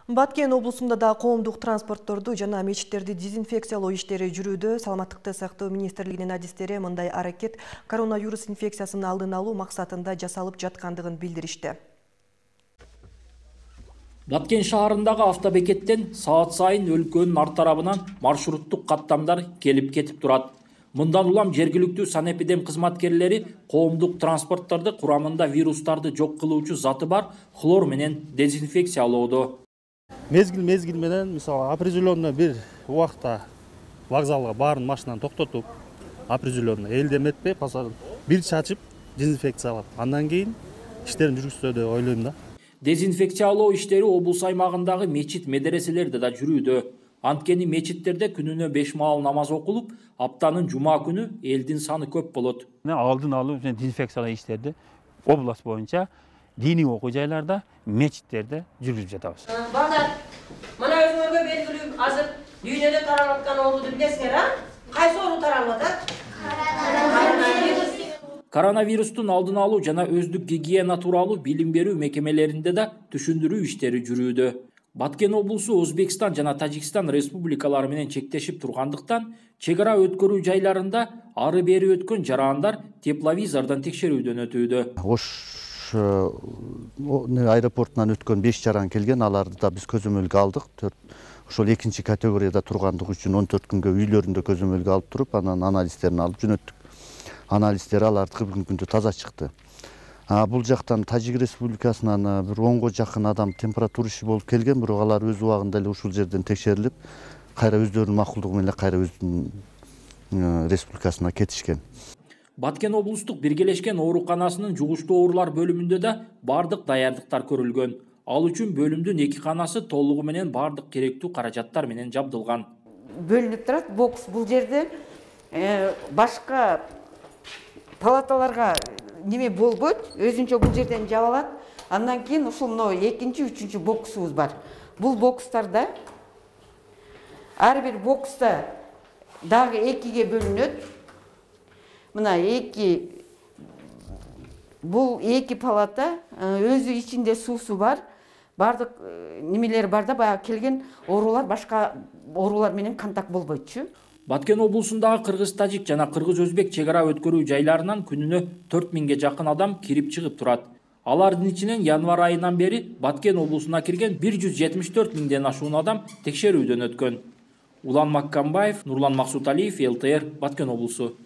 Баткен облусунда да коомдук транспортторду жана мечиттерди дезинфекциялоо иштери жүрүүдө. Саламаттыкты сактоо министрлигинин адистери мындай аракет коронавирус инфекциясынын алдын алуу максатында жасалып жаткандыгын билдиришти. Баткен шаарындагы автобекеттен саат сайын өлкөнүн ар тарабынан маршруттук каттамдар келип кетип турат. Мындан улам жергиликтүү санэпидем кызматкерлери коомдук транспортторду курамында вирустарды жок кылуучу заты бар хлор менен дезинфекциялоодо. Мезгил менен мисалы определенный бир убакта вокзалга баарын машинаны токтотуп, определенный элдеметпей бир чачып дезинфекциялап, андан кийин иштерин жүргүзсө деп ойлойм да. Дезинфекциялоо иштери облус аймагындагы мечит медреселерде да жүрүүдө. Анткени мечиттерде күнүнө 5 маал намаз окулуп, аптанын жума күнү элдин саны көп болот. Алдын алуу жана дезинфекциялоо иштерди область боюнча диний окуу жайларда, мечиттерде жүргүзүп жатабыз. Балдар, мына өзүңөргө белгилүү азыр дүйнөдө таралып аткан оорууну билесиңер, а? Кайсы оору таралып атат? Коронавирустун алдын алуу жана өздүк гигиена тууралуу билим берүү мекемелеринде да түшүндүрүү иштери жүрүүдө. Баткен облусу Өзбекстан жана Тажикстан республикалары менен чектешип тургандыктан, чек ара өткөрүү жайларында ары бери өткөн жарандар тепловизордон текшерүүдөн өтүүдө. Аэропортунан өткөн 5 жаран келген, аларды да биз көзөмөлгө алдык. Ошол экинчи категорияда тургандыгы үчүн 14 күнгө үйлөрүндө көзөмөлгө алып туруп, анан анализдерин алып жөнөттүк. Анализдер алардыкы бүгүнкү күндө таза чыкты. Бул жактан Тажик республикасынан бир 10го жакын адам температурасы болуп келген, бирок алар өз убагында эле ушул жерден текшерилип, кайра өздөрүнүн макулдугу менен кайра өздүнүн республикасына кетишкен. Баткен облустук биргелешкен ооруканасынын жугуштуу оорулар бөлүмүндө да бардык даярдыктар көрүлгөн. Ал үчүн бөлүмдүн 2 канасы толугу менен бардык керектүү каражаттар менен жабдылган. Бөлүнүп турат бокс бул жерде башка палаталарга неме болбойт, өзүнчө бул жерден жабылат. Андан кийин ушул мына экинчи, үчүнчү боксубуз бар. Бул бокстарда ар бир бокста дагы 2ге бөлүнөт. Мына бул 2 палата өзү ичинде суусу бар. Бардык немелер бар да, баягы келген оорулар башка оорулар менен контакт болбойтчу. Баткен облусундагы кыргыз-тажик жана кыргыз-өзбек чек ара өткөрүү жайларынан күнүнө 4000ге жакын адам кирип чыгып турат. Алардын ичинен январь айынан бери Баткен облусуна кирген 174 миңден ашуун адам текшерүүдөн өткөн. Улан Маккамбаев, Нурлан Максуталиев, ЛТР, Баткен облусу.